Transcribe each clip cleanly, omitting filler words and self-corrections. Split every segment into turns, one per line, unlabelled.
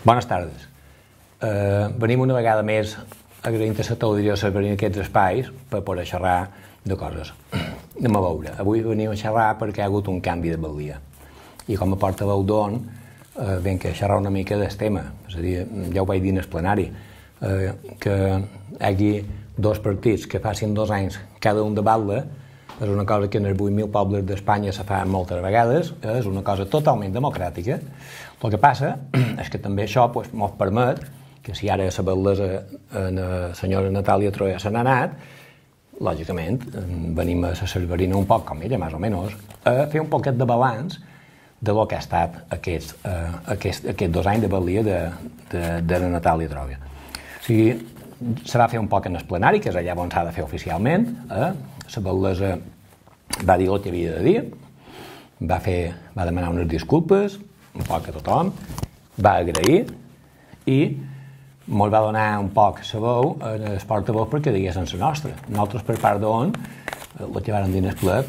Bones tardes. Venim una vegada més agraint a la televisió servir aquests espais per poder xerrar de coses. Anem a veure. Avui venim a xerrar perquè hi ha hagut un canvi de balia. I com a portaveu d'ON venc a xerrar una mica del tema. És a dir, ja ho vaig dir en el plenari, que hi hagi dos partits que facin 2 anys cada un de batla és una cosa que en els 8.000 pobles d'Espanya se fa moltes vegades, és una cosa totalment democràtica. El que passa és que també això ens permet que si ara la batlesa la senyora Natàlia Troia se n'ha anat, lògicament venim a la Cerverina un poc com ella, més o menys, a fer un poquet de balanç de lo que ha estat aquests 2 anys de balia de la Natàlia Troia. O sigui, se va fer un poc en el plenari, que és allà on s'ha de fer oficialment. La batlesa va dir el que havia de dir, va demanar unes disculpes, un poc a tothom, va agrair i ens va donar un poc la veu en el portaveu perquè diguessin la nostra. Nosaltres, per part d'ON, el que varen dir en el ple,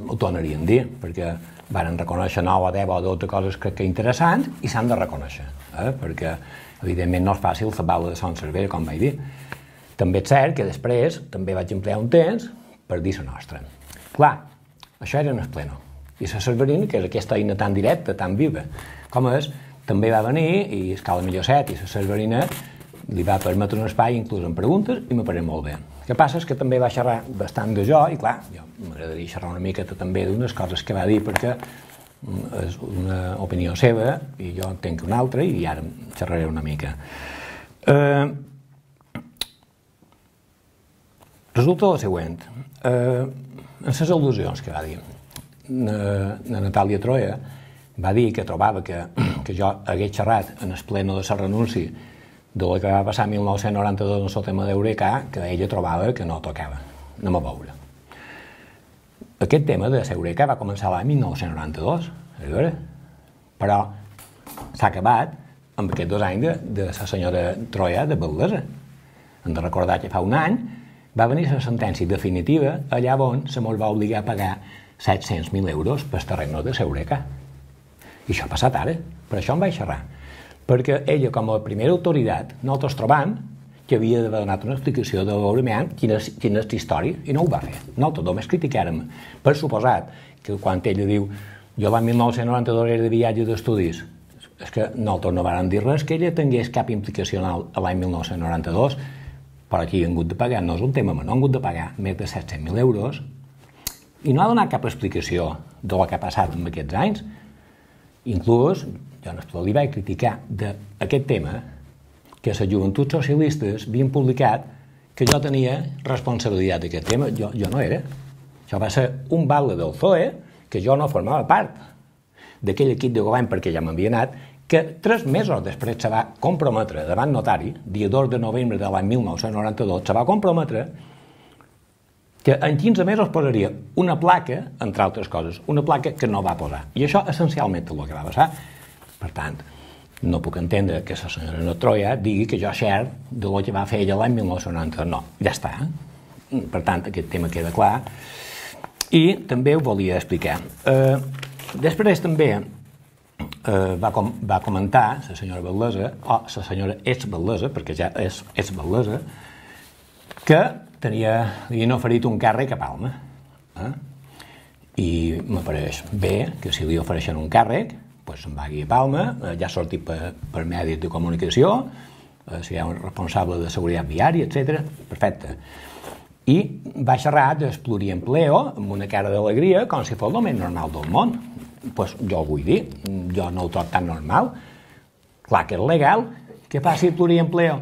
ho tornaríem a dir, perquè varen reconèixer 9 o 10 o 12 coses que interessants i s'han de reconèixer, perquè evidentment no és fàcil la bala de Son Cervera, com vaig dir. També és cert que després també vaig emplear un temps per dir la nostra. Clar, això era en el pleno. I la Cerverina, que és aquesta eina tan directa, tan viva, com és, també va venir, i Escala Millocet i la Cerverina li va permetre un espai, inclús en preguntes, i m'apareix molt bé. El que passa és que també va xerrar bastant de jo, i clar, jo m'agradaria xerrar una mica també d'unes coses que va dir, perquè és una opinió seva, i jo en tenc una altra, i ara xerraré una mica. Resulta el següent. En les al·lusions que va dir, la Natàlia Troia va dir que trobava que jo hagués xerrat en el pleno de la renúncia del que va passar 1992 en el tema d'Eureka, que ella trobava que no tocava. Anem a veure. Aquest tema de l'Eureka va començar l'any 1992, però s'ha acabat amb aquests 2 anys de la senyora Troia de batlesa. Hem de recordar que fa un any va venir la sentència definitiva allà on se mos va obligar a pagar 700.000 euros per terreny de l'Eureka. I això ha passat ara. Per això em vaig xerrar. Perquè ella, com a primera autoritat, nosaltres trobam que havia d'haver donat una explicació de veure quina és la història, i no ho va fer. Nosaltres només criticàrem. Per suposat que quan ella diu jo l'any 1992 era de viatge d'estudis, és que nosaltres no vàrem dir res que ella tingués cap implicació a l'any 1992, però aquí han hagut de pagar, no és un tema menor, han hagut de pagar més de 700.000 euros i no ha donat cap explicació del que ha passat en aquests anys. Inclús, jo en el ple li vaig criticar d'aquest tema que les joventuts socialistes havien publicat que jo tenia responsabilitat d'aquest tema. Jo no era. Això va ser un batle del PSOE que jo no formava part d'aquell equip de govern perquè ja m'havia anat, que 3 mesos després se va comprometre davant notari, dia 2 de novembre de l'any 1992, se va comprometre que en 15 mesos posaria una placa, entre altres coses, una placa que no va posar. I això essencialment és el que va passar. Per tant, no puc entendre que la senyora Troia digui que jo xer del que va fer ella l'any 1992. No, ja està. Per tant, aquest tema queda clar. I també ho volia explicar. Després també va comentar la senyora batlesa, o la senyora ex-batlesa, perquè ja és ex-batlesa, que li havien oferit un càrrec a Palma. I m'apareix bé que si li ofereixen un càrrec, se'n vagi a Palma, ja ha sortit per medis de comunicació, si hi ha un responsable de seguretat viària, etc. Perfecte. I va xerrar del pluriempleo amb una cara d'alegria com si fos el més normal del món. Jo ho vull dir, jo no ho trobo tan normal. Clar que és legal que faci pluriempleo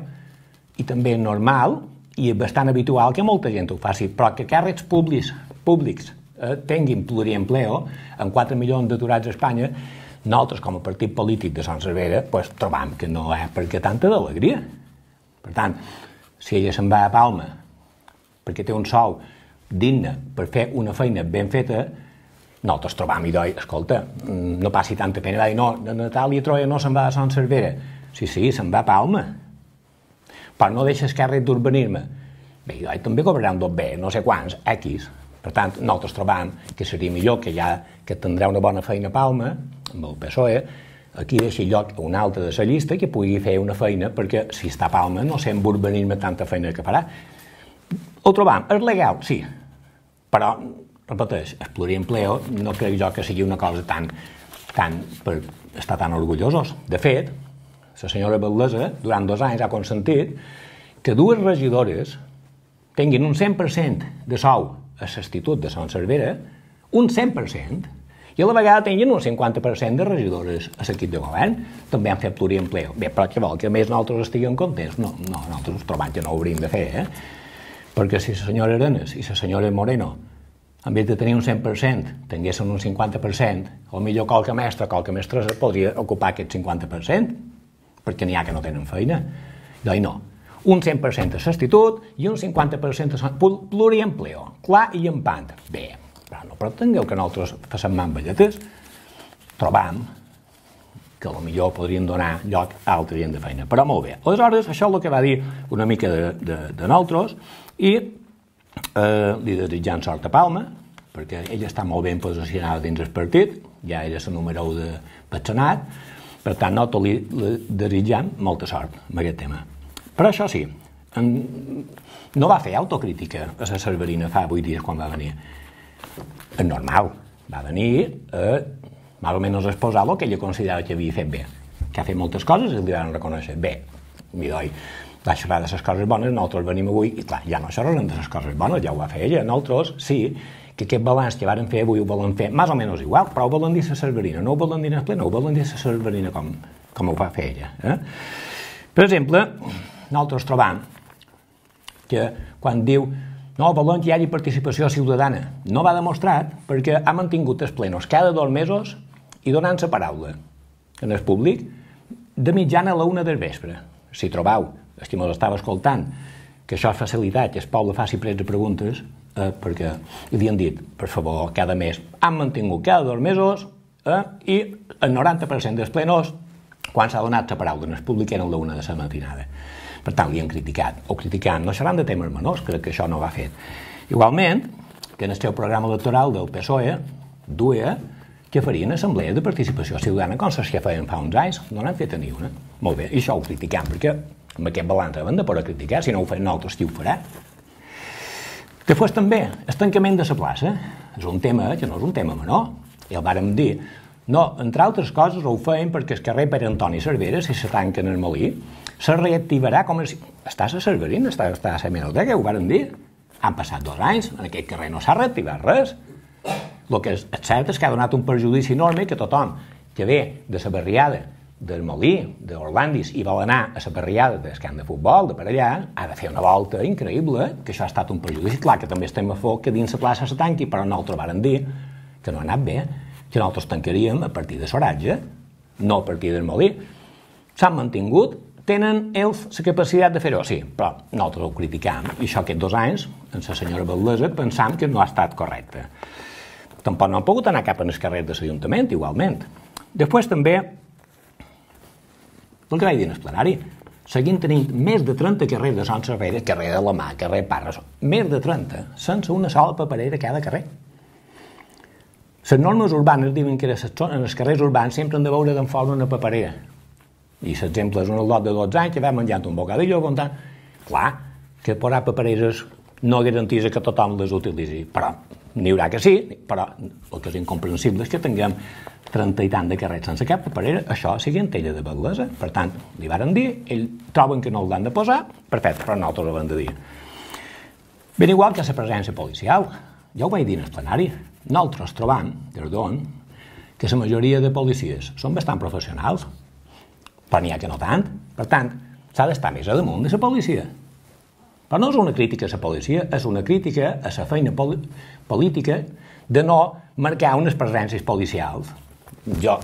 i també és normal i és bastant habitual que molta gent ho faci, però que càrrecs públics tinguin pluriempleo amb 4 milions d'aturats a Espanya, nosaltres com a partit polític de Son Cervera trobam que no hi ha per què tanta d'alegria. Per tant, si ella se'n va a Palma perquè té un sou digne per fer una feina ben feta, nosaltres trobam i doi, escolta, no passi tanta pena. Va dir, no, la Natàlia Troia no se'n va a Son Cervera. Sí, se'n va a Palma. Però no deixes càrrec d'urbanisme. Bé, i també cobraran dos bé, no sé quants, X. Per tant, nosaltres trobam que seria millor que tindrà una bona feina a Palma, amb el PSOE, aquí deixi lloc a un altre de la llista que pugui fer una feina, perquè si està a Palma no sé amb urbanisme tanta feina que farà. Ho trobam, és legal, sí, però, repeteix, el pluriempleo no crec jo que sigui una cosa tan per estar tan orgullosos. De fet, la senyora Valdesa durant 2 anys ha consentit que 2 regidores tinguin un 100% de sou a l'Institut de Son Cervera, un 100%, i a la vegada tinguin un 50% de regidores a l'equip de govern. També han fet pluriempleo. Bé, però què vol? Que a més nosaltres estiguem contents? No, nosaltres trobem que no ho hauríem de fer, perquè si la senyora Arenas i la senyora Moreno, en vez de tenir un 100%, tinguessin un 50%, o millor qualque mestressa podria ocupar aquest 50%, perquè n'hi ha que no tenen feina. Doncs no. Un 100% a l'institut i un 50% a pluriempleo. Clar i empant. Bé, però no pretengueu que nosaltres facem mamballetes. Trobam que potser podrien donar lloc a altra gent de feina. Però molt bé. Aleshores, això és el que va dir una mica de nosaltres i li desitjant sort a Palma, perquè ella està molt ben posicionada dins el partit, ja era la número 1 del Senat, per tant, nosaltres li desitjam molta sort en aquest tema. Però això sí, no va fer autocrítica a la Cerverina fa 8 dies quan va venir. És normal, va venir a més o menys exposar el que ella considerava que havia fet bé, que ha fet moltes coses i li van reconèixer. Bé, m'hi va xerrar de les coses bones, nosaltres venim avui i clar, ja no xerrarem de les coses bones, ja ho va fer ella. Nosaltres sí que aquest balanç que varen fer avui ho volen fer més o menys igual, però ho volen dir a la Cerverina, no ho volen dir en el ple, no ho volen dir a la Cerverina com ho va fer ella. Per exemple, nosaltres trobam que quan diu no, volen que hi hagi participació ciutadana, no va demostrat perquè ha mantingut els plenos cada 2 mesos i donant la paraula en el públic de mitjana a la 1 del vespre. Si trobau, els que m'estava escoltant, que això és facilitat, que el poble faci prets de preguntes, perquè li han dit, per favor, cada mes, han mantingut cada 2 mesos i el 90% dels plenos, quan s'ha donat la paraula en el públic, eren la 1 de la matinada. Per tant, li han criticat, o criticant, no seran de temes menors, crec que això no va fet. Igualment, que en el seu programa electoral del PSOE duia que farien assemblees de participació ciutadana com les que feien fa uns anys, no n'han fet ni una. Molt bé, i això ho criticam, perquè amb aquest balanç hem de poder criticar, si no ho fem nosaltres, qui ho farà? Després també, el tancament de la plaça, és un tema que no és un tema menor, i el vàrem dir, no, entre altres coses ho feien perquè el carrer Pere Antoni Cervera, si se tanca en el molí, se reactivarà com si... Està a la Cerverina, està a la Hemeroteca, ho vàrem dir. Han passat 2 anys, en aquest carrer no s'ha reactivat res. El que és cert és que ha donat un perjudici enorme que tothom que ve de la barriada del Molí, d'Orlandis, i vol anar a la barriada del camp de futbol, de per allà, ha de fer una volta increïble, que això ha estat un perjudici. Clar que també estem a foc que dins la plaça se tanqui, però nosaltres vàrem dir que no ha anat bé, que nosaltres tancaríem a partir de Soratge, no a partir del Molí. S'han mantingut, tenen ells la capacitat de fer-ho, sí, però nosaltres ho criticam, i això aquests 2 anys, amb la senyora Valdesa, pensam que no ha estat correcte. Tampoc no han pogut anar cap en els carrers de l'Ajuntament, igualment. Després també, el que vaig dir en el plenari, seguim tenint més de 30 carrers de Son Cervera, carrer de la Mà, carrer Parres, més de 30, sense una sola paperera a cada carrer. Les normes urbanes diuen que en els carrers urbans sempre han de veure d'en forma una paperera. I l'exemple és un lot de 12 anys que va menjant un bocadillo comptant. Clar, que posar papereres no garanteix que tothom les utilitzi, però n'hi haurà que sí, però el que és incomprensible és que tinguem 30 i tant de carrers sense cap paperera, això sigui en tella de Valdesa. Per tant, li varen dir, ells troben que no l'han de posar, perfecte, però nosaltres ho hem de dir. Ben igual que la presència policial, ja ho vaig dir en el plenari, nosaltres trobam, des d'on, que la majoria de policies són bastant professionals, però n'hi ha que no tant. Per tant, s'ha d'estar més a damunt de la policia. Però no és una crítica a la policia, és una crítica a la feina política de no marcar unes presències policials. Jo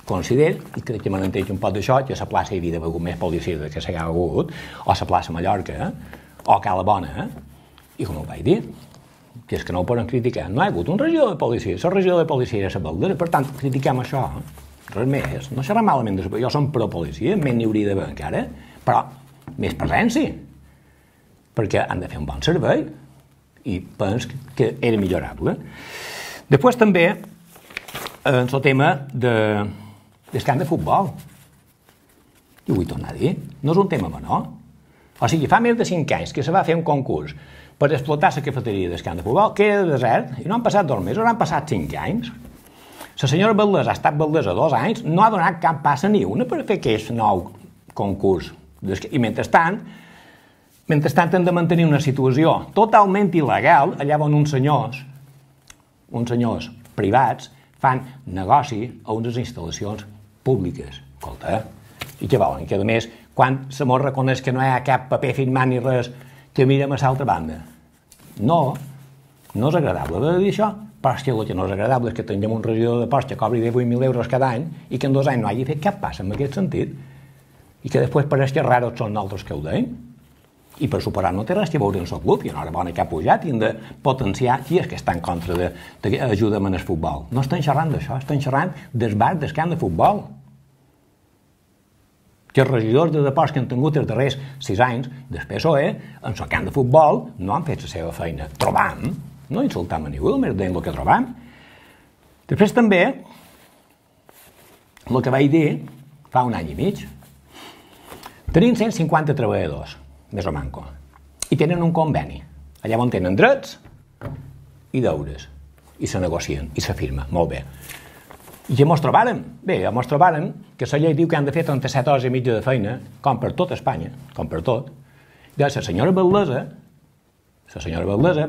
considero, i crec que m'entenc un poc d'això, que a la plaça hi havia d'haver més policies del que s'hi ha hagut, o a la plaça Mallorca, o a Cala Bona, i com ho vaig dir, que és que no ho poden criticar. No hi ha hagut un regidor de policia, la regidor de policia era la Valdera, per tant, critiquem això. Res més, no serà malament, jo som pro-policia, més n'hi hauria d'haver encara, però més presència, perquè han de fer un bon servei, i penso que era millorable. Després també, en el tema de del camp de futbol. I ho vull tornar a dir, no és un tema menor. O sigui, fa més de 5 anys que se va fer un concurs per explotar la cafeteria del camp de futbol, queda desert, i no han passat 2 mesos, han passat 5 anys. La senyora Valdés ha estat Valdés 2 anys, no ha donat cap passa ni una per fer aquest nou concurs. I mentrestant hem de mantenir una situació totalment il·legal allà on uns senyors privats fan negoci a unes instal·lacions públiques. Escolta, i què volen? Que a més, quan se mos reconeix que no hi ha cap paper firmat ni res, que mirem a l'altra banda. No és agradable de dir això, però és que el que no és agradable és que tinguem un regidor de Ports que cobri 18.000 euros cada any i que en 2 anys no hagi fet cap pas en aquest sentit i que després pareix que raros són nosaltres que ho deim. I per suposar no té res a veure amb el club, i una hora bona que ha pujat i hem de potenciar qui és que està en contra d'ajuda'm en el futbol. No estan xerrant d'això, estan xerrant del bar del camp de futbol. Que els regidors de deports que han tingut els darrers 6 anys del PSOE en el camp de futbol no han fet la seva feina. Trobam, no insultam a ningú, només deim el que trobam. Després també, el que vaig dir fa un any i mig, tenim 150 treballadors, més o manco, i tenen un conveni, allà on tenen drets i deures, i se negocien, i se firma, molt bé. I què mos trobàrem? Bé, mos trobàrem que la llei diu que han de fer 37 hores i mitja de feina, com per tot Espanya, com per tot. I la senyora Valdesa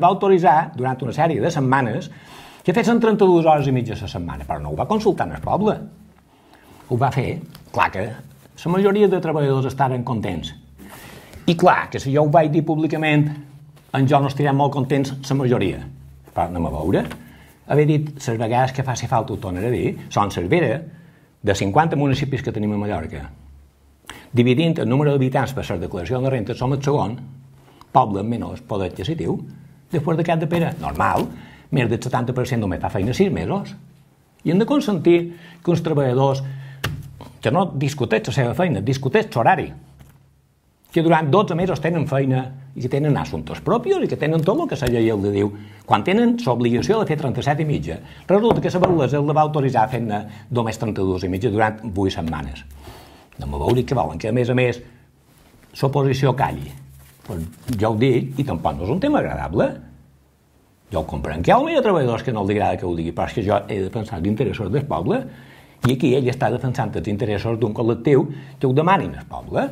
va autoritzar durant una sèrie de setmanes que fessin 32 hores i mitja a la setmana, però no ho va consultar en el poble. Ho va fer, clar que la majoria de treballadors estaven contents. I clar, que si jo ho vaig dir públicament, en jo no estirem molt contents la majoria. Però anem a veure. Haver dit les vegades que faci falta ho tornaré a dir, Son Cervera, de 50 municipis que tenim a Mallorca, dividint el número d'habitants per la declaració de renta, som el segon poble amb menys poder adquisitiu després de Cap de Pere. Normal, més del 70% només fa feina 6 mesos. I hem de consentir que uns treballadors que no discuteix la seva feina, discuteix l'horari, que durant 12 mesos tenen feina i que tenen assumptes propis i que tenen tot el que la llei els diu. Quan tenen l'obligació de fer 37 i mitja, resulta que la Valdesa el va autoritzar fent-ne només 32 i mitja durant 8 setmanes. No m'ho veure que volen que, a més, l'oposició calli. Pues jo ho dic, i tampoc no és un tema agradable. Jo ho comprenc, que hi ha treballadors que no els agrada que ho digui, però és que jo he de pensar els interessos del poble, i aquí ell està defensant els interessos d'un col·lectiu que ho demanin al poble.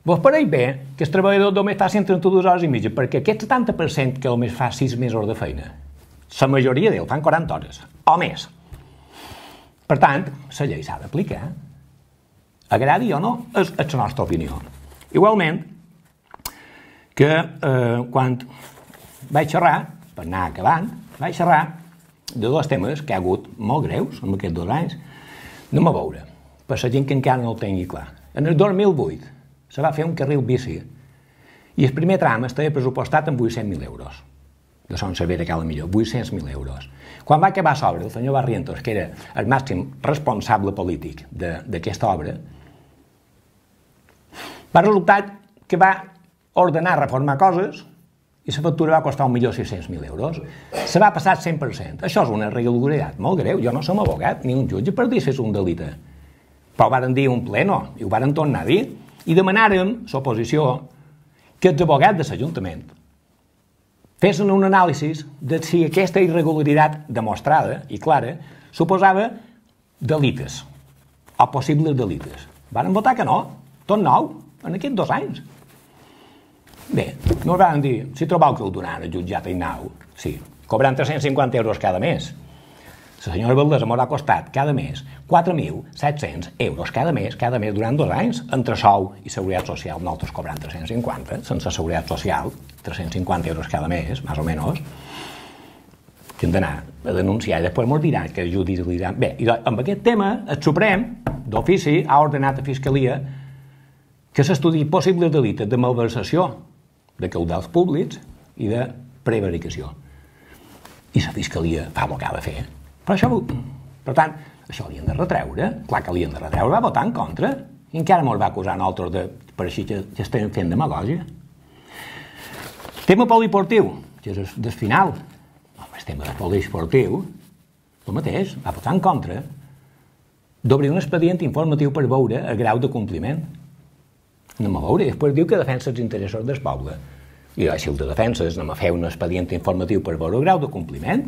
Vos pareix bé que el treballador només fa 132 hores i mitja, perquè aquest 70% que només fa 6 mesos de feina, la majoria d'ells fan 40 hores, o més. Per tant, la llei s'ha d'aplicar. Agradi o no, és la nostra opinió. Igualment, que quan vaig xerrar, per anar acabant, vaig xerrar de 2 temes que hi ha hagut molt greus en aquests 2 anys. Anem a veure, per la gent que encara no ho tingui clar. En el 2008 se va fer un carril bici i el primer tram estava pressupostat en 800.000 euros. De Son Cervera, que era millor, 800.000 euros. Quan va acabar l'obra, el senyor Barrientos, que era el màxim responsable polític d'aquesta obra, va resultar que va ordenar reformar coses i la factura va costar 1.600.000 euros. Se va passar 100%. Això és una irregularitat molt greu. Jo no som abogat ni un jutge per dir si és un delicte. Però ho varen dir un pleno i ho varen tornar a dir i demanàrem, l'oposició, que els abogats de l'Ajuntament fessin un anàlisi de si aquesta irregularitat demostrada i clara suposava delites o possibles delites. Varen votar que no, tot nou, en aquests 2 anys. Bé, no van dir, si trobeu que ho donaran al jutjat i nau, sí, cobrant 350 euros cada mes. La senyora Valdesa m'haurà costat cada mes 4.700 euros cada mes durant 2 anys, entre sou i seguretat social, nosaltres cobrant 350, sense seguretat social, 350 euros cada mes, més o menys, que hem d'anar a denunciar i després ens diran que judicialitzem. Bé, i amb aquest tema, el Suprem, d'ofici, ha ordenat a Fiscalia que s'estudi possibles delites de malversació de caudals públics i de prevaricació. I la Fiscalia fa el que ha de fer. Per tant, això li han de retreure. Clar que li han de retreure, va votar en contra. I encara ens va acusar a nosaltres per així que estem fent demagògia. Tema poliportiu, que és del final. El tema de poliesportiu, el mateix, va votar en contra d'obrir un expedient informatiu per veure el grau de compliment. Anem a veure, i després diu que defensa els interessos del poble. I si el de defenses, anem a fer un expedient informatiu per veure el grau de compliment.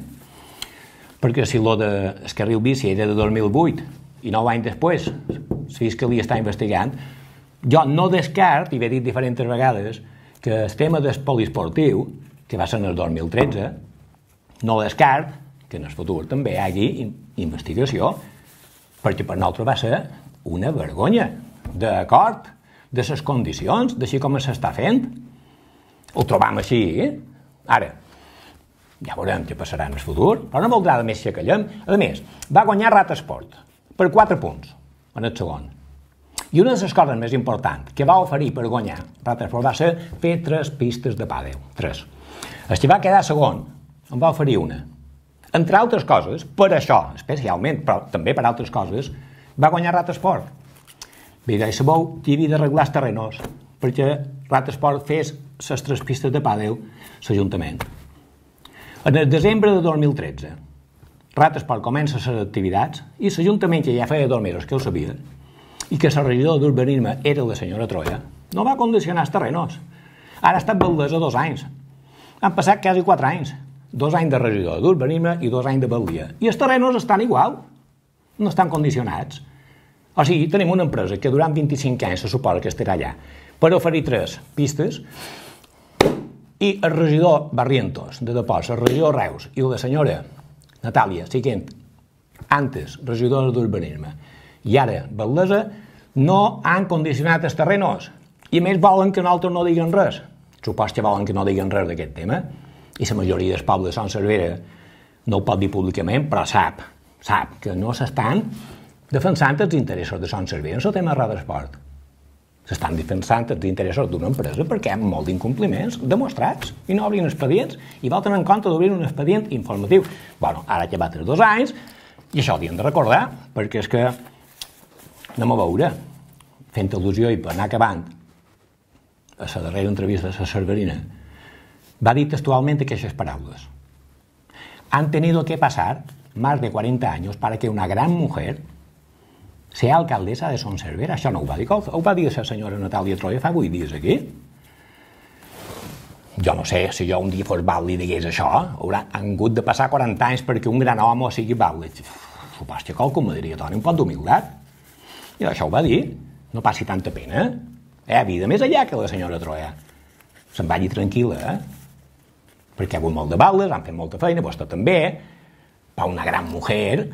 Perquè si el del carril bici era de 2008 i 9 anys després la Fiscalia està investigant, jo no descart, i he dit diferents vegades, que el tema del poliesportiu, que va ser en el 2013, no descart que en el futur també hi hagi investigació, perquè per nosaltres va ser una vergonya, d'acord, de les condicions, d'així com s'està fent. Ho trobam així, Ara, ja veurem què passarà en el futur, però no voldrà més que callem. A més, va guanyar Ratesport, per 4 punts, en el segon. I una de les coses més importants que va oferir per guanyar Ratesport va ser fer 3 pistes de pàdel, 3. El que va quedar segon en va oferir una. Entre altres coses, per això, especialment, però també per altres coses, va guanyar Ratesport. Bé, sabeu que hi havia d'arreglar els terrenos, perquè Ratesport fes les 3 pistes de pàdel l'Ajuntament. En el desembre de 2013, Ratesport comença les activitats i l'Ajuntament, que ja feia 2 mesos que ho sabia, i que la regidora d'urbanisme era la senyora Troia, no va condicionar els terrenos. Ara ha estat valdesa 2 anys. Han passat quasi 4 anys. 2 anys de regidor d'urbanisme i 2 anys de baldia. I els terrenos estan igual, no estan condicionats. O sigui, tenim una empresa que durant 25 anys se suposa que estarà allà per oferir 3 pistes i el regidor Barrientos de Depòs, el regidor Reus i la senyora Natàlia, siguent antes regidora d'urbanisme i ara baldesa, no han condicionat els terrenos i més volen que nosaltres no diguem res. Supos que volen que no diguem res d'aquest tema. I la majoria del poble de Son Servera no ho pot dir públicament, però sap que no s'estan defensant els interessos de Son Servera en el tema de Ratesport. S'estan defensant els interessos d'una empresa perquè hi ha molt d'incompliments demostrats i no obrin expedients i voten en compte d'obrir un expedient informatiu. Bueno, ara que va 2 anys i això ho hem de recordar perquè és que anem a veure, fent al·lusió i per anar acabant a la darrera entrevista de la Cerverina, va dir textualmente aquestes palabras. Han tenido que pasar más de 40 años para que una gran mujer sea alcaldesa de Son Servera. Això no ho va dir, ho va dir la senyora Natàlia Troia fa 8 dies aquí. Jo no sé, si jo un dia fos vàlid i digués això, han hagut de passar 40 anys perquè un gran home sigui vàlid. Supos que qualcú me diria, Toni, un pot d'humilitat. I això ho va dir, no passi tanta pena. Vida més allà que la senyora Troia. Se'n vagi tranquil·la, perquè ha hagut molt de baldes, han fet molta feina, vostè també, per una gran mujer,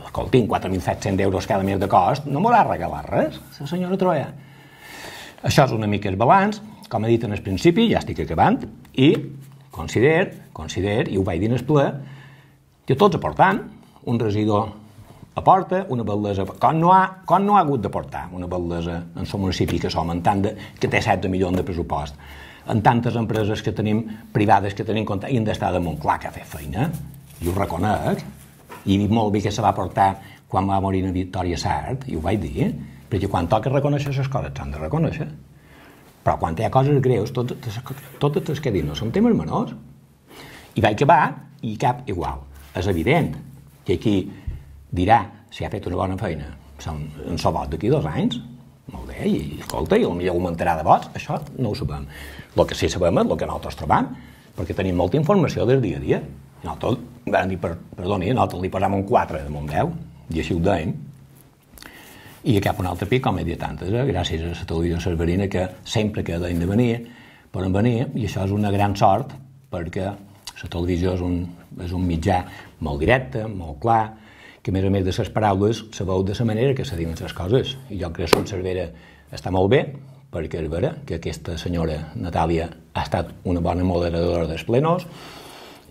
escolti'm, 4.700 euros cada mes de cost, no m'haurà regalat res, la senyora Troia. Això és una mica el balanç, com he dit en el principi, ja estic acabant, i consider, i ho vaig dir en el ple, que tots aportant, un regidor aporta una baldesa, com no ha hagut d'aportar una baldesa en el municipi que som, que té 16 milions de pressupost, en tantes empreses que tenim privades que tenim compte i han d'estar damunt. Clar que ha fet feina, i ho reconec, i molt bé que se va portar quan va morir en Victòria Sart, i ho vaig dir, perquè quan toca reconèixer les coses s'han de reconèixer, però quan hi ha coses greus, totes les que diuen no són temes menors. I vaig acabar i cap igual. És evident que aquí dirà si ha fet una bona feina en el vot d'aquí 2 anys, molt bé, i escolta, i potser augmentarà de vots, això no ho sabem. El que sí sabem és el que nosaltres trobam, perquè tenim molta informació del dia a dia. Nosaltres vam dir, perdoni, nosaltres li posàvem un 4 damunt 10, i així ho dèiem, i a cap un altre pic, com he dit antes, gràcies a la televisió cerverina, que sempre que deien de venir, poden venir, i això és una gran sort, perquè la televisió és un mitjà molt directe, molt clar, que a més de les paraules se veu de la manera que se diuen les coses. I jo crec que Son Servera està molt bé, perquè és vera que aquesta senyora Natàlia ha estat una bona moderadora dels plenos,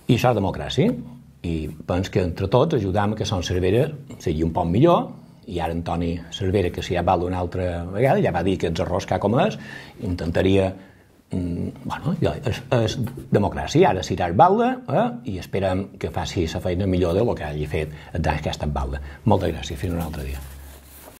i això és democràcia. I penso que entre tots ajudam que Son Servera sigui un poc millor, i ara Antoni Cervera, que si ja val una altra vegada, ja va dir que els errors que ha comès, intentaria... Bueno, és democràcia, ara serà balda i esperem que faci la feina millor del que hagi fet els anys que ha estat balda. Moltes gràcies, fins un altre dia.